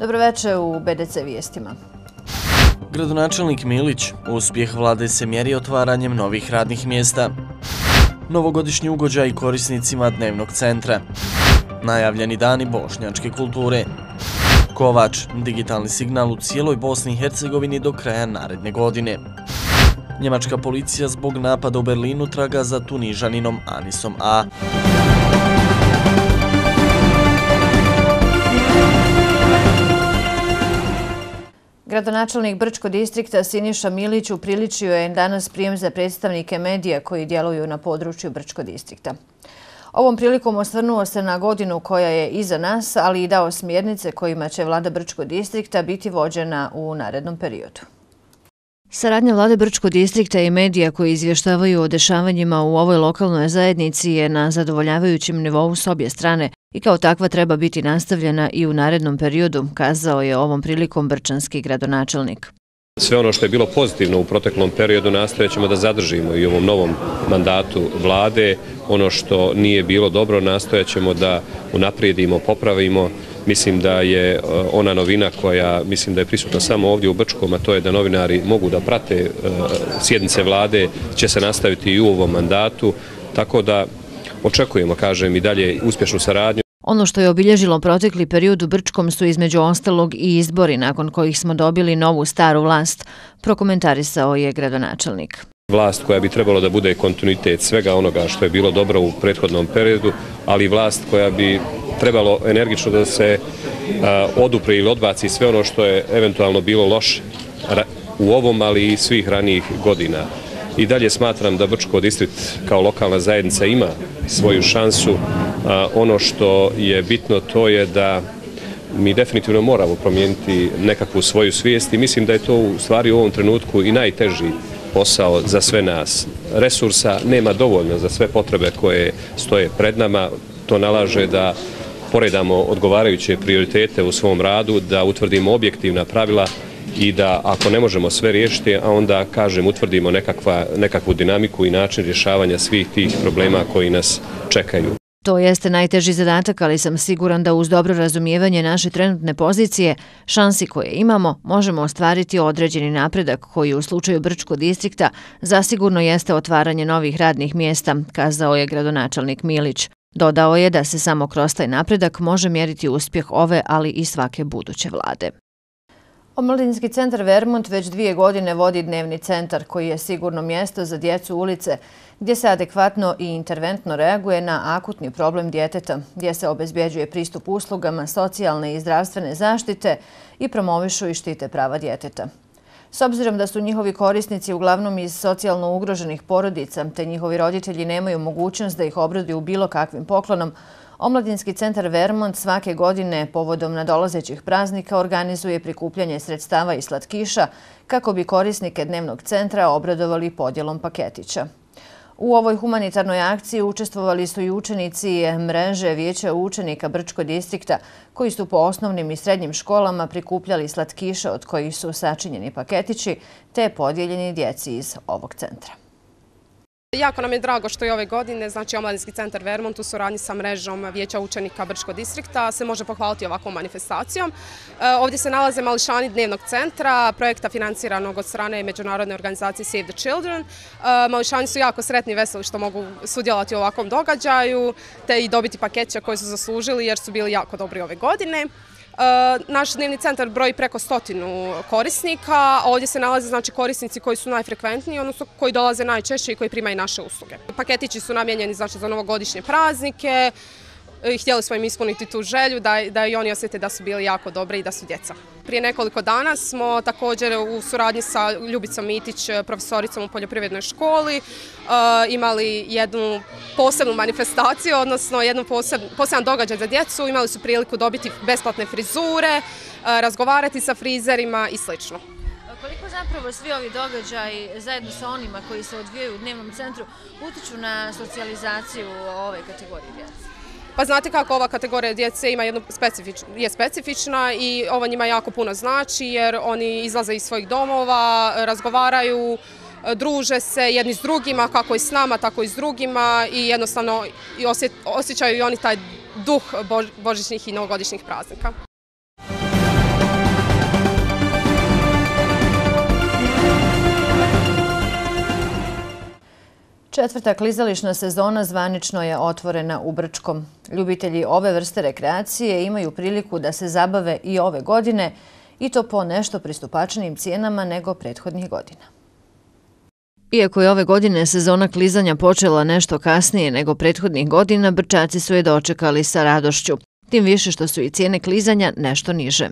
Dobroveče u BDC vijestima. Gradonačelnik Milić, uspjeh vlade se mjeri otvaranjem novih radnih mjesta. Novogodišnji ugođaj korisnicima dnevnog centra. Najavljeni dani bošnjačke kulture. Kovač, digitalni signal u cijeloj Bosni i Hercegovini do kraja naredne godine. Njemačka policija zbog napada u Berlinu traga za Tunižaninom Anisom A. Gradonačelnik Brčkog distrikta Siniša Milić upriličio je danas prijem za predstavnike medija koji djeluju na području Brčkog distrikta. Ovom prilikom osvrnuo se na godinu koja je iza nas, ali i dao smjernice kojima će vlada Brčkog distrikta biti vođena u narednom periodu. Saradnja vlade Brčkog distrikta i medija koji izvještavaju o dešavanjima u ovoj lokalnoj zajednici je na zadovoljavajućem nivou s obje strane i kao takva treba biti nastavljena i u narednom periodu, kazao je ovom prilikom brčanski gradonačelnik. Sve ono što je bilo pozitivno u proteklom periodu nastojat ćemo da zadržimo i u ovom novom mandatu vlade. Ono što nije bilo dobro nastojat ćemo da unaprijedimo, popravimo. Mislim da je ona novina koja mislim da je prisutna samo ovdje u Brčkom, a to je da novinari mogu da prate sjednice vlade, će se nastaviti i u ovom mandatu, tako da očekujemo, kažem, i dalje uspješnu saradnju. Ono što je obilježilo protekli period u Brčkom su između ostalog i izbori nakon kojih smo dobili novu staru vlast, prokomentarisao je gradonačelnik. Vlast koja bi trebalo da bude kontinuitet svega onoga što je bilo dobro u prethodnom periodu, ali vlast koja bi trebalo energično da se odupre ili odbaci sve ono što je eventualno bilo loše u ovom, ali i svih ranijih godina. I dalje smatram da Brčko distrikt kao lokalna zajednica ima svoju šansu. Ono što je bitno to je da mi definitivno moramo promijeniti nekakvu svoju svijest i mislim da je to u stvari u ovom trenutku i najteži posao za sve nas. Resursa nema dovoljno za sve potrebe koje stoje pred nama. To nalaže da poredamo odgovarajuće prioritete u svom radu, da utvrdimo objektivna pravila i da ako ne možemo sve riješiti, a onda, kažem, utvrdimo nekakvu dinamiku i način rješavanja svih tih problema koji nas čekaju. To jeste najteži zadatak, ali sam siguran da uz dobro razumijevanje naše trenutne pozicije, šansi koje imamo, možemo ostvariti određeni napredak koji u slučaju Brčkog distrikta zasigurno jeste otvaranje novih radnih mjesta, kazao je gradonačelnik Milić. Dodao je da se samo kroz taj napredak može mjeriti uspjeh ove, ali i svake buduće vlade. Omladinski centar Vermont već 2 godine vodi dnevni centar koji je sigurno mjesto za djecu ulice gdje se adekvatno i interventno reaguje na akutni problem djeteta, gdje se obezbjeđuje pristup uslugama socijalne i zdravstvene zaštite i promovišu i štite prava djeteta. S obzirom da su njihovi korisnici uglavnom iz socijalno ugroženih porodica te njihovi roditelji nemaju mogućnost da ih obraduju bilo kakvim poklonom, Omladinski centar Vermont svake godine povodom nadolazećih praznika organizuje prikupljanje sredstava i slatkiša kako bi korisnike dnevnog centra obradovali podjelom paketića. U ovoj humanitarnoj akciji učestvovali su i učenici mreže Vijeća učenika Brčkog distrikta koji su po osnovnim i srednjim školama prikupljali slatkiše od kojih su sačinjeni paketići te podijeljeni djeci iz ovog centra. Jako nam je drago što i ove godine, znači Omladinski centar Vermont u suradnji sa mrežom Vijeća učenika Brčkog distrikta se može pohvaliti ovakvom manifestacijom. Ovdje se nalaze mališani dnevnog centra, projekta financiranog od strane međunarodne organizacije Save the Children. Mališani su jako sretni i veseli što mogu sudjelovati u ovakvom događaju te i dobiti paketića koje su zaslužili jer su bili jako dobri ove godine. Naš dnevni centar broji preko 100 korisnika. Ovdje se nalaze znači korisnici koji su najfrekventniji, odnosno koji dolaze najčešće i koji primaju naše usluge. Paketići su namijenjeni znači za novogodišnje praznike. Htjeli smo im ispuniti tu želju da i oni osjete da su bili jako dobri i da su djeca. Prije nekoliko dana smo također u suradnji sa Ljubicom Mitić, profesoricom u poljoprivrednoj školi, imali jednu posebnu manifestaciju, odnosno poseban događaj za djecu. Imali su priliku dobiti besplatne frizure, razgovarati sa frizerima i sl. Koliko zapravo svi ovi događaji zajedno sa onima koji se odvijaju u dnevnom centru utiču na socijalizaciju ove kategorije djece? Pa znate kako ova kategorija djece ima je specifična i ovo njima jako puno znači jer oni izlaze iz svojih domova, razgovaraju, druže se jedni s drugima, kako i s nama, tako i s drugima i jednostavno osjećaju i oni taj duh božićnih i novogodišnjih praznika. Četvrta klizališna sezona zvanično je otvorena u Brčkom. Ljubitelji ove vrste rekreacije imaju priliku da se zabave i ove godine i to po nešto pristupačnijim cijenama nego prethodnih godina. Iako je ove godine sezona klizanja počela nešto kasnije nego prethodnih godina, Brčaci su je dočekali sa radošću. Tim više što su i cijene klizanja nešto niže.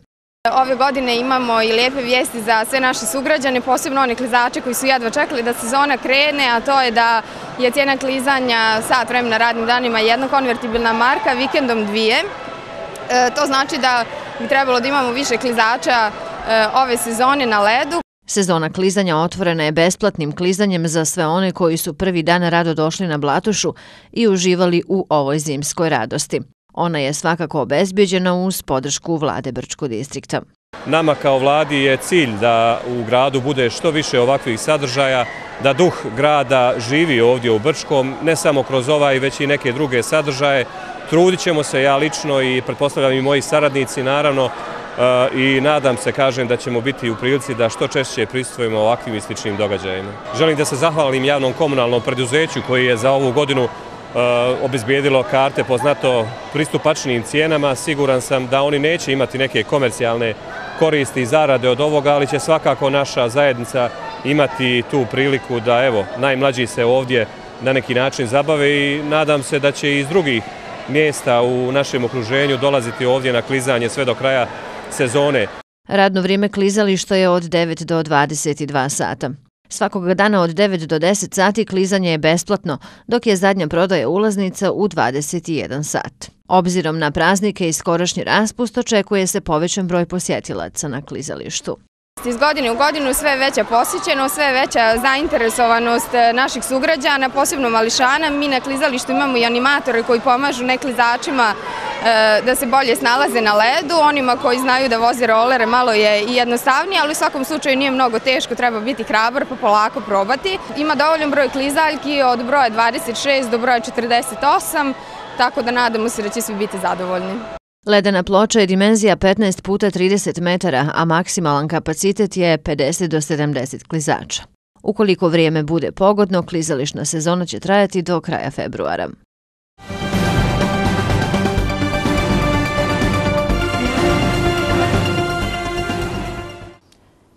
Ove godine imamo i lijepe vijesti za sve naše sugrađane, posebno one klizače koji su jedva čekali da sezona krene, a to je da je cijena klizanja sat vremena radnim danima jedna konvertibilna marka, vikendom 2. To znači da bi trebalo da imamo više klizača ove sezone na ledu. Sezona klizanja otvorena je besplatnim klizanjem za sve one koji su prvi dan rado došli na Blatušu i uživali u ovoj zimskoj radosti. Ona je svakako obezbeđena uz podršku vlade Brčkog distrikta. Nama kao vladi je cilj da u gradu bude što više ovakvih sadržaja, da duh grada živi ovdje u Brčkom, ne samo kroz ovaj, već i neke druge sadržaje. Trudit ćemo se, ja lično i pretpostavljam i moji saradnici, naravno, i nadam se, kažem, da ćemo biti u prilici da što češće prisustvujemo ovakvim i sličnim događajima. Želim da se zahvalim javnom komunalnom preduzeću koji je za ovu godinu obezbijedilo karte po znato pristupačnim cijenama. Siguran sam da oni neće imati neke komercijalne koristi i zarade od ovoga, ali će svakako naša zajednica imati tu priliku da, evo, najmlađi se ovdje na neki način zabave i nadam se da će iz drugih mjesta u našem okruženju dolaziti ovdje na klizanje sve do kraja sezone. Radno vrijeme klizališta je od 9 do 22 sata. Svakog dana od 9 do 10 sati klizanje je besplatno, dok je zadnja prodaja ulaznica u 21 sat. Obzirom na praznike i skorašnji raspust, očekuje se povećan broj posjetilaca na klizalištu. Iz godine u godinu sve je veća posjećenost, sve je veća zainteresovanost naših sugrađana, posebno mališana. Mi na klizalištu imamo i animatore koji pomažu neklizačima da se bolje snalaze na ledu. Onima koji znaju da voze rolere malo je i jednostavnije, ali u svakom slučaju nije mnogo teško, treba biti hrabar pa polako probati. Ima dovoljan broj klizaljki od broja 26 do broja 48, tako da nadamo se da će svi biti zadovoljni. Ledena ploča je dimenzija 15 puta 30 metara, a maksimalan kapacitet je 50 do 70 klizača. Ukoliko vrijeme bude pogodno, klizališna sezona će trajati do kraja februara.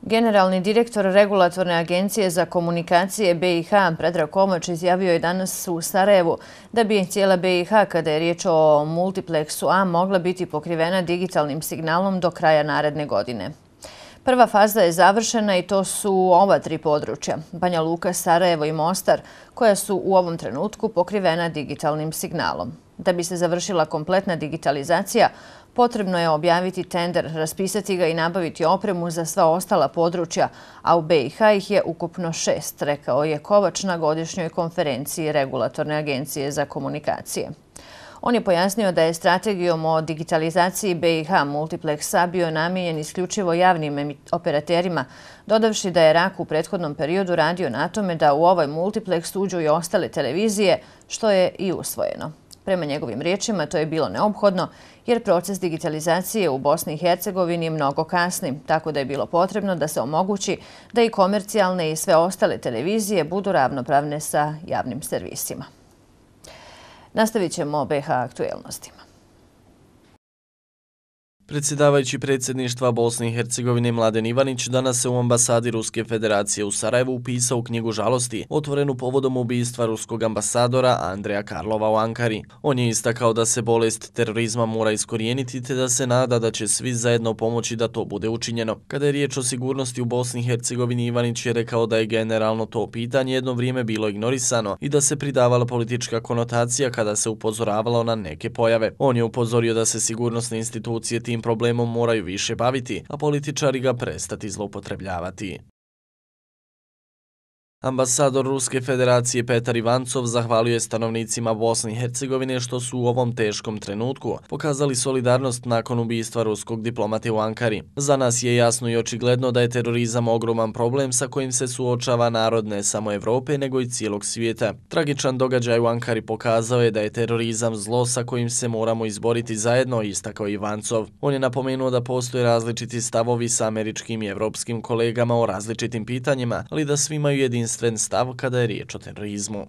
Generalni direktor Regulatorne agencije za komunikacije BiH Predrag Komač izjavio je danas u Sarajevu da bi cijela BiH, kada je riječ o multipleksu A, mogla biti pokrivena digitalnim signalom do kraja naredne godine. Prva faza je završena i to su ova 3 područja, Banja Luka, Sarajevo i Mostar, koja su u ovom trenutku pokrivena digitalnim signalom. Da bi se završila kompletna digitalizacija, potrebno je objaviti tender, raspisati ga i nabaviti opremu za sva ostala područja, a u BiH ih je ukupno 6, rekao je Kovač na godišnjoj konferenciji Regulatorne agencije za komunikacije. On je pojasnio da je strategijom o digitalizaciji BiH multipleksa bio namijenjen isključivo javnim operaterima, dodavši da je RAK u prethodnom periodu radio na tome da u ovaj multipleks uđu i ostale televizije, što je i usvojeno. Prema njegovim riječima, to je bilo neophodno jer proces digitalizacije u Bosni i Hercegovini mnogo kasni, tako da je bilo potrebno da se omogući da i komercijalne i sve ostale televizije budu ravnopravne sa javnim servisima. Nastavit ćemo o BiH aktuelnostima. Predsjedavajući predsjedništva Bosne i Hercegovine Mladen Ivanić danas se u ambasadi Ruske federacije u Sarajevu upisao knjigu žalosti, otvorenu povodom ubistva ruskog ambasadora Andreja Karlova u Ankari. On je istakao da se bolest terorizma mora iskorijeniti te da se nada da će svi zajedno pomoći da to bude učinjeno. Kada je riječ o sigurnosti u Bosni i Hercegovini, Ivanić je rekao da je generalno to pitanje jedno vrijeme bilo ignorisano i da se pridavala politička konotacija kada se upozoravalo na neke pojave. On je upozorio da se sigurnosne institucije tim problemom moraju više baviti, a političari ga prestati zloupotrebljavati. Ambasador Ruske federacije Petar Ivancov zahvalio je stanovnicima Bosne i Hercegovine što su u ovom teškom trenutku pokazali solidarnost nakon ubistva ruskog diplomate u Ankari. Za nas je jasno i očigledno da je terorizam ogroman problem sa kojim se suočava narod ne samo Evrope nego i cijelog svijeta. Tragičan događaj u Ankari pokazao je da je terorizam zlo sa kojim se moramo izboriti zajedno, istakao Ivancov. On je napomenuo da postoje različiti stavovi sa američkim i evropskim kolegama o različitim pitanjima, ali da svi imaju jedinstven stav kada je riječ o terorizmu.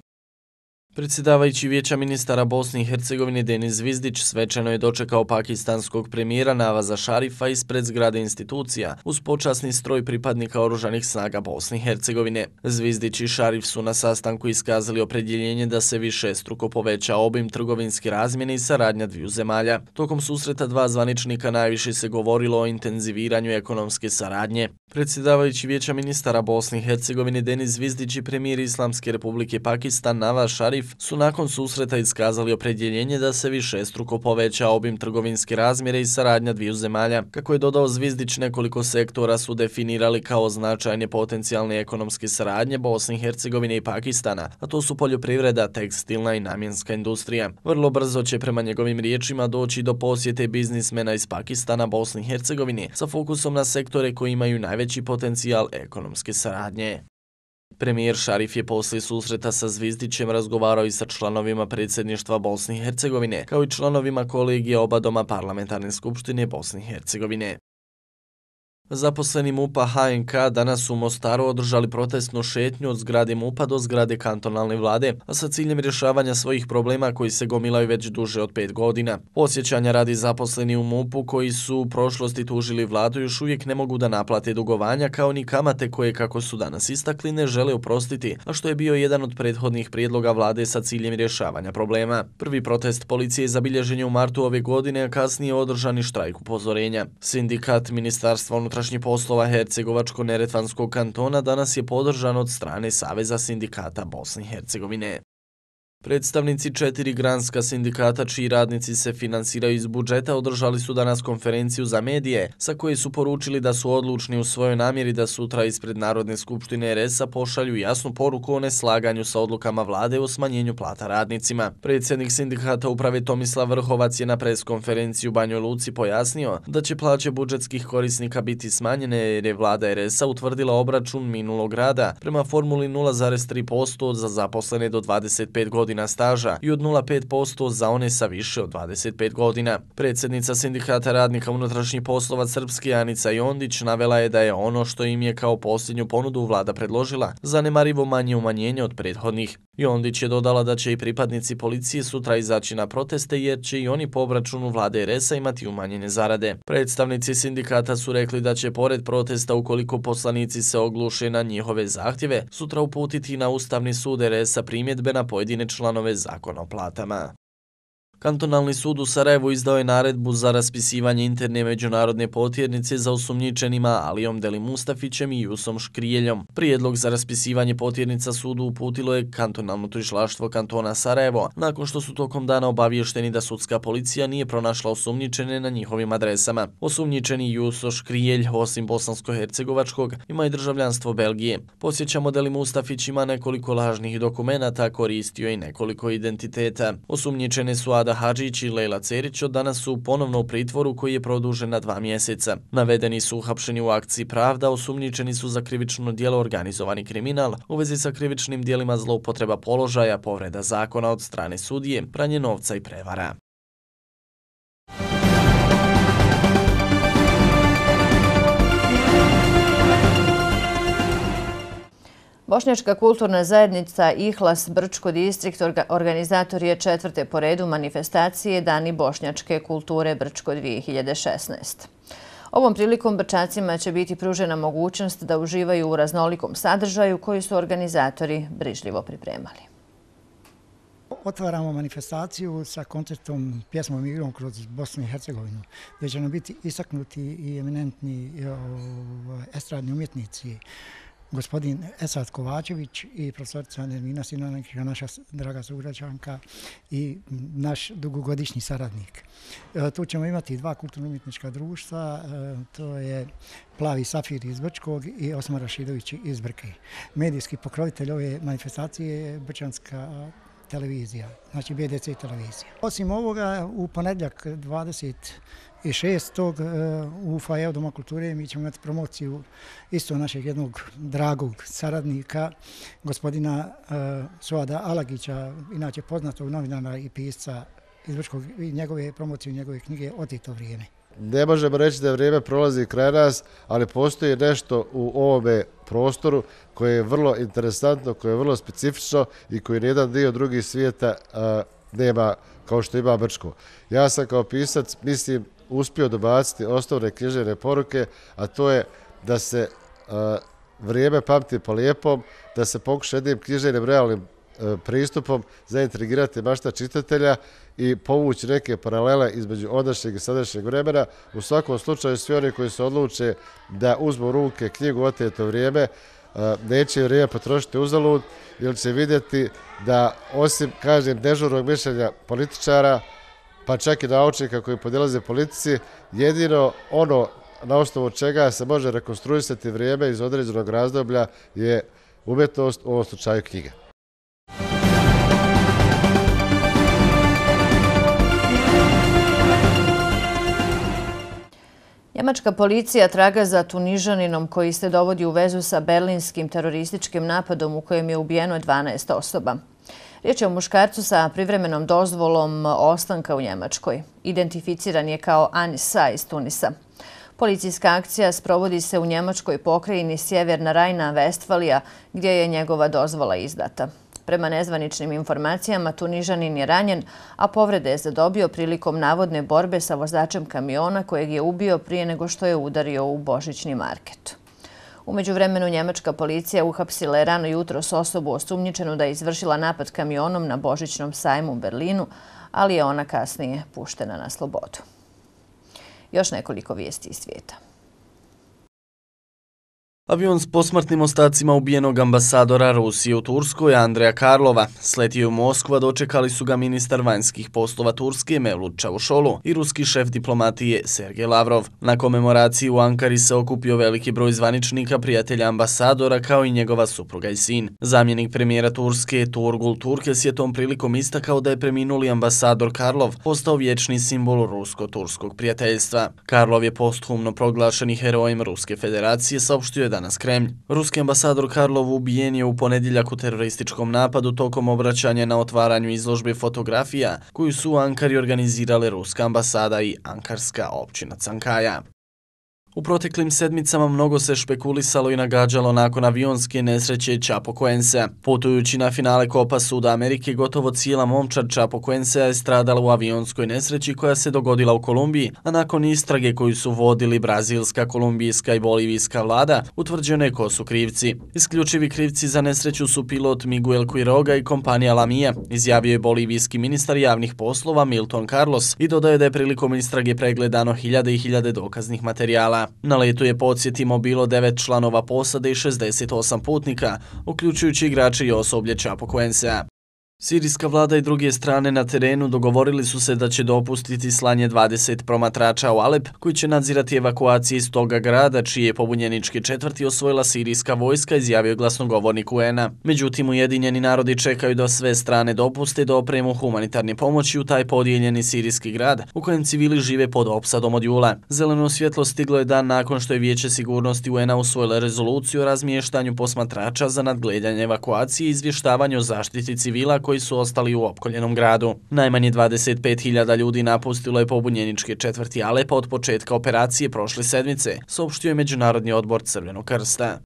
Predsjedavajući Vijeća ministara Bosne i Hercegovine Denis Zvizdić svečano je dočekao pakistanskog premijera Navaza Šarifa ispred zgrade institucija uz počasni stroj pripadnika oružanih snaga Bosne i Hercegovine. Zvizdić i Šarif su na sastanku iskazali opredjeljenje da se višestruko poveća obim trgovinske razmjene i saradnja dviju zemalja. Tokom susreta dva zvaničnika najviše se govorilo o intenziviranju ekonomske saradnje. Predsjedavajući Vijeća ministara Bosne i Hercegovine Denis Zvizdić i premijer Islamske republike Pakistan Navaz Šarif su nakon susreta iskazali opredjeljenje da se višestruko poveća obim trgovinske razmjere i saradnja dviju zemalja. Kako je dodao Zvizdić, nekoliko sektora su definirali kao značajne potencijalne ekonomske saradnje Bosne i Hercegovine i Pakistana, a to su poljoprivreda, tekstilna i namjenska industrija. Vrlo brzo će prema njegovim riječima doći do posjete biznismena iz Pakistana Bosne i Hercegovine sa fokusom na sektore koji imaju najveći potencijal ekonomske saradnje. Premijer Šarif je poslije susreta sa Zvizdićem razgovarao i sa članovima predsjedništva Bosne i Hercegovine, kao i članovima kolegija oba doma Parlamentarne skupštine Bosne i Hercegovine. Zaposleni MUP-a HNK danas u Mostaru održali protestnu šetnju od zgrade MUP-a do zgrade kantonalne vlade, a sa ciljem rješavanja svojih problema koji se gomilaju već duže od 5 godina. Podsjećanja radi zaposleni u MUP-u koji su u prošlosti tužili vladu još uvijek ne mogu da naplate dugovanja kao ni kamate koje, kako su danas istakli, ne žele oprostiti, a što je bio jedan od prethodnih prijedloga vlade sa ciljem rješavanja problema. Prvi protest policije zabilježen je u martu ove godine, a kasnije održani štrajk upozorenja. Sindikat Ministarstva unutrašnjih poslova Hercegovačko-Neretvanskog kantona danas je podržan od strane Saveza sindikata Bosne i Hercegovine. Predstavnici 4 granska sindikata čiji radnici se finansiraju iz budžeta održali su danas konferenciju za medije sa koje su poručili da su odlučni u svojoj namjeri da sutra ispred Narodne skupštine RS-a pošalju jasnu poruku o neslaganju sa odlukama vlade o smanjenju plata radnicima. Predsjednik sindikata uprave Tomislav Vrhovac je na preskonferenciji u Banjoj Luci pojasnio da će plaće budžetskih korisnika biti smanjene jer je vlada RS-a utvrdila obračun minulog rada prema formuli 0,3% za zaposlene do 25 godina staža i od 0,5% za one sa više od 25 godina. Predsjednica sindikata radnika unutrašnjih poslova Srpske Anica Jondić navela je da je ono što im je kao posljednju ponudu vlada predložila zanemarivo manje umanjenje od prethodnih. Jondić je dodala da će i pripadnici policije sutra izaći na proteste jer će i oni po obračunu vlade RS-a imati umanjene zarade. Predstavnici sindikata su rekli da će pored protesta, ukoliko poslanici se ogluše na njihove zahtjeve, sutra uputiti na Ustavni sud RS-a primjedbe na pojedine članove zakona o platama. Kantonalni sud u Sarajevu izdao je naredbu za raspisivanje interne međunarodne potjernice za osumnjičenima Alijom Deli Mustafićem i Jusom Škrijeljom. Prijedlog za raspisivanje potjernica sudu uputilo je kantonalno tužilaštvo kantona Sarajevo, nakon što su tokom dana obavješteni da sudska policija nije pronašla osumnjičene na njihovim adresama. Osumnjičeni Juso Škrijelj, osim bosansko-hercegovačkog, ima i državljanstvo Belgije. Podsjećamo, Deli Mustafić ima nekoliko lažnih dokumenata, koristio i nekoliko identiteta. Osumnjičene su Ada Hadžić i Lejla Cerić od danas su ponovno u pritvoru koji je produžen na 2 mjeseca. Navedeni su uhapšeni u akciji Pravda, osumnjičeni su za krivično djelo organizovani kriminal u vezi sa krivičnim djelima zloupotreba položaja, povreda zakona od strane sudije, pranje novca i prevara. Bošnjačka kulturna zajednica Ihlas Brčko distrikt organizator je 4. po redu manifestacije Dani bošnjačke kulture Brčko 2016. Ovom prilikom Brčacima će biti pružena mogućnost da uživaju u raznolikom sadržaju koji su organizatori brižljivo pripremali. Otvaramo manifestaciju sa koncertom pjesmom i igrom kroz Bosnu i Hercegovinu, gdje će nam biti istaknuti i eminentni estradni umjetnici, gospodin Esad Kovačević i profesorica Nermina Sinanića, naša draga sugrađanka i naš dugogodišnji saradnik. Tu ćemo imati 2 kulturno-umjetnička društva, to je Plavi Safir iz Brčkog i Osmar Rašidović iz Brke. Medijski pokrovitelj ove manifestacije je Brčanska televizija, znači BDC televizija. Osim ovoga, u ponedjeljak 26. u Foajeu Doma kulture mi ćemo imati promociju isto našeg jednog dragog saradnika, gospodina Suada Alagića, inače poznatog novinara i pisca iz Brčkog, i njegove promocije, njegove knjige Otito vrijeme. Ne možemo reći da vrijeme prolazi kraj nas, ali postoji nešto u ovome prostoru koje je vrlo interesantno, koje je vrlo specifično i koji nijedan dio drugih svijeta nema kao što ima Brčko. Ja sam kao pisac, mislim, uspio dobaciti osnovne književne poruke, a to je da se vrijeme pamti po lijepom, da se pokuša jednim književnim realnim pristupom zaintrigirati mašta čitatelja i povući neke paralele između ondašnjeg i sadašnjeg vremena. U svakom slučaju svi oni koji se odluče da uzmu u ruke knjigu Oteto vrijeme, neće vrijeme potrošiti uzalud, jer će vidjeti da osim, kažem, dežurnog mišljenja političara, pa čak i naučnika koji podilaze politici, jedino ono na osnovu čega se može rekonstruisati vrijeme iz određenog razdoblja je umjetnost, u ovom slučaju knjiga. Njemačka policija traga za Tunižaninom koji se dovodi u vezu sa berlinskim terorističkim napadom u kojem je ubijeno 12 osoba. Riječ je o muškarcu sa privremenom dozvolom ostanka u Njemačkoj. Identificiran je kao Anisa iz Tunisa. Policijska akcija sprovodi se u njemačkoj pokrajini Sjeverna Rajna-Vestfalija gdje je njegova dozvola izdata. Prema nezvaničnim informacijama, Tunižanin je ranjen, a povrede je zadobio prilikom navodne borbe sa vozačem kamiona kojeg je ubio prije nego što je udario u božićni market. U međuvremenu njemačka policija uhapsila je rano jutros osobu osumnjičenu da je izvršila napad kamionom na božićnom sajmu u Berlinu, ali je ona kasnije puštena na slobodu. Još nekoliko vijesti iz svijeta. Avion s posmrtnim ostacima ubijenog ambasadora Rusije u Turskoj Andreja Karlova sletio u Moskvu, a dočekali su ga ministar vanjskih poslova Turske Mevlut Čavušolu i ruski šef diplomatije Sergej Lavrov. Na komemoraciji u Ankari se okupio veliki broj zvaničnika, prijatelja ambasadora kao i njegova supruga i sin. Zamjenik premijera Turske Turgul Turkes je tom prilikom istakao da je preminuli ambasador Karlov postao vječni simbol rusko-turskog prijateljstva. Karlov je posthumno proglašeni herojem Ruske federacije, saopštio je danas Kremlj. Ruski ambasador Karlov ubijen je u ponedjeljak u terorističkom napadu tokom obraćanja na otvaranju izložbe fotografija koju su u Ankari organizirale Ruska ambasada i Ankarska općina Cankaja. U proteklim sedmicama mnogo se špekulisalo i nagađalo nakon avionske nesreće Chapecoense. Putujući na finale Kopa Suda Amerike, gotovo cijela momčad Chapecoensea je stradala u avionskoj nesreći koja se dogodila u Kolumbiji, a nakon istrage koju su vodili brazilska, kolumbijska i bolivijska vlada, utvrđeno je ko su krivci. Isključivi krivci za nesreću su pilot Miguel Quiroga i kompanija Lamia, izjavio je bolivijski ministar javnih poslova Milton Carlos i dodaje da je prilikom istrage pregledano hiljade i hiljade dokaznih materijala. Na letu je, podsjetimo, bilo 9 članova posade i 68 putnika, uključujući igrače i osoblje Chapecoensea. Sirijska vlada i druge strane na terenu dogovorili su se da će dopustiti slanje 20 promatrača u Alep, koji će nadzirati evakuacije iz toga grada, čije je pobunjeničke četvrti osvojila sirijska vojska, izjavio glasnogovornik UN-a. Međutim, Ujedinjeni narodi čekaju da sve strane dopuste da opremu humanitarne pomoći u taj podijeljeni sirijski grad, u kojem civili žive pod opsadom od jula. Zeleno svjetlo stiglo je dan nakon što je Vijeće sigurnosti UN-a usvojilo rezoluciju o razmještanju posmatrača za nadgledanje evakuacije i izvještavanje o zaštiti civila koji su ostali u opkoljenom gradu. Najmanje 25.000 ljudi napustilo je pobunjeničke četvrti Alepa od početka operacije prošle sedmice, saopštio je Međunarodni odbor Crvenog krsta.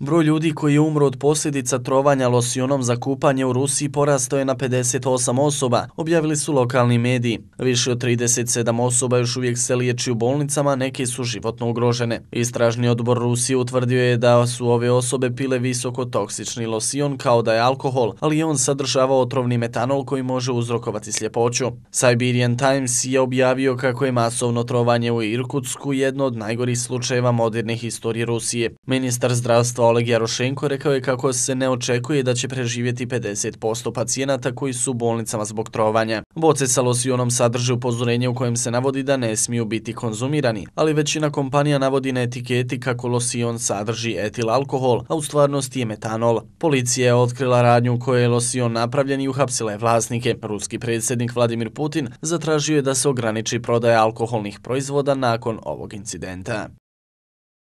Broj ljudi koji je umro od posljedica trovanja losionom za kupanje u Rusiji porastao je na 58 osoba, objavili su lokalni mediji. Više od 37 osoba još uvijek se liječi u bolnicama, neke su životno ugrožene. Istražni odbor Rusije utvrdio je da su ove osobe pile visokotoksični losion kao da je alkohol, ali je on sadržavao otrovni metanol koji može uzrokovati sljepoću. Siberian Times je objavio kako je masovno trovanje u Irkutsku jedno od najgorih slučajeva moderne historije Rusije. Ministar zdravstva Oleg Jarošenko rekao je kako se ne očekuje da će preživjeti 50% pacijenata koji su u bolnicama zbog trovanja. Boce sa losionom sadrže upozorenje u kojem se navodi da ne smiju biti konzumirani, ali većina kompanija navodi na etiketi kako losion sadrži etil alkohol, a u stvarnosti je metanol. Policija je otkrila radnju u kojoj je losion napravljen i uhapsila je vlasnike. Ruski predsjednik Vladimir Putin zatražio je da se ograniči prodaja alkoholnih proizvoda nakon ovog incidenta.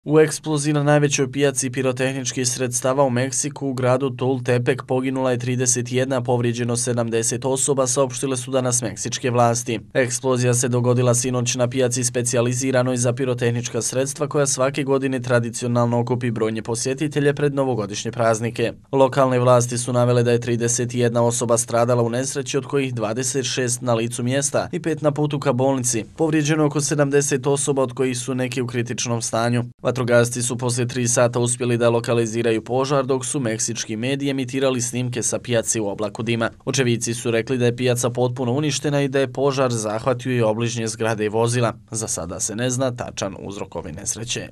U eksploziji na najvećoj pijaci pirotehničkih sredstava u Meksiku u gradu Tultepec poginula je 31, povrijeđeno 70 osoba, saopštile su danas meksičke vlasti. Eksplozija se dogodila sinoć na pijaci specijaliziranoj za pirotehnička sredstva koja svake godine tradicionalno okupi brojne posjetitelje pred novogodišnje praznike. Lokalne vlasti su navele da je 31 osoba stradala u nesreći, od kojih 26 na licu mjesta i 5 na putu ka bolnici. Povrijeđeno oko 70 osoba, od kojih su neki u kritičnom stanju. Vatrogasci su poslije 3 sata uspjeli da lokaliziraju požar, dok su meksički mediji emitirali snimke sa pijaci u oblaku dima. Očevici su rekli da je pijaca potpuno uništena i da je požar zahvatio i obližnje zgrade i vozila. Za sada se ne zna tačan uzrok ove nesreće.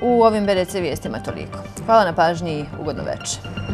U ovim BDC vijestima toliko. Hvala na pažnji i ugodno večer.